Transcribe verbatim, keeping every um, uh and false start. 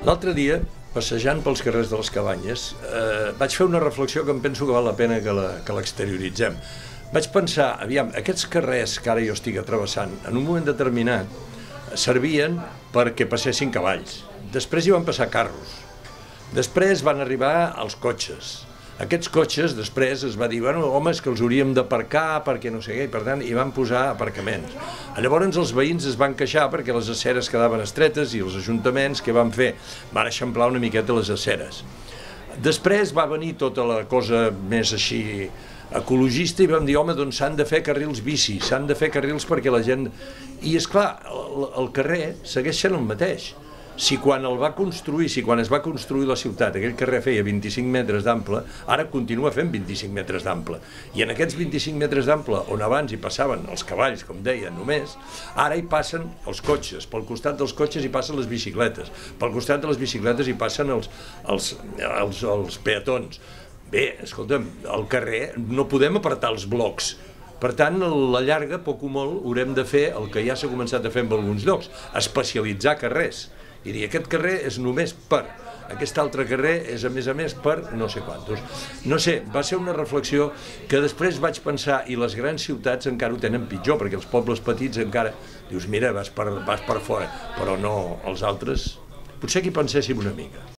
L'altre dia, passejant pels carrers de les Cabanyes, eh, vaig fer una reflexió que em penso que val la pena que l'exterioritzem. Vaig pensar, aviam, aquests carrers que ara jo estic travessant, en un moment determinat, servien perquè passessin cavalls. Després hi van passar carros. Després van arribar els cotxes. Aquests cotxes, després es va dir, bueno, home, és que els hauríem d'aparcar perquè no sé què, i per tant hi van posar aparcaments. Llavors els veïns es van queixar perquè les aceres quedaven estretes i els ajuntaments, què van fer? Van eixamplar una miqueta les aceres. Després va venir tota la cosa més així ecologista i vam dir, home, doncs s'han de fer carrils bici, s'han de fer carrils perquè la gent... I esclar, el, el carrer segueix sent el mateix. Si quan el va construir, si quan es va construir la ciutat, aquell carrer feia vint-i-cinc metres d'ample, ara continua fent vint-i-cinc metres d'ample. I en aquests vint-i-cinc metres d'ample, on abans hi passaven els cavalls, com deia, només, ara hi passen els cotxes, pel costat dels cotxes hi passen les bicicletes, pel costat de les bicicletes hi passen els, els, els, els peatons. Bé, escolta'm, al carrer no podem apartar els blocs. Per tant, a la llarga, poc o molt, haurem de fer el que ja s'ha començat a fer en alguns llocs, especialitzar carrers. I dir, aquest carrer és només per, aquest altre carrer és a més a més per no sé quantos. No sé, va ser una reflexió que després vaig pensar, i les grans ciutats encara ho tenen pitjor, perquè els pobles petits encara, dius, mira, vas per, vas per fora, però no els altres, potser que hi penséssim una mica.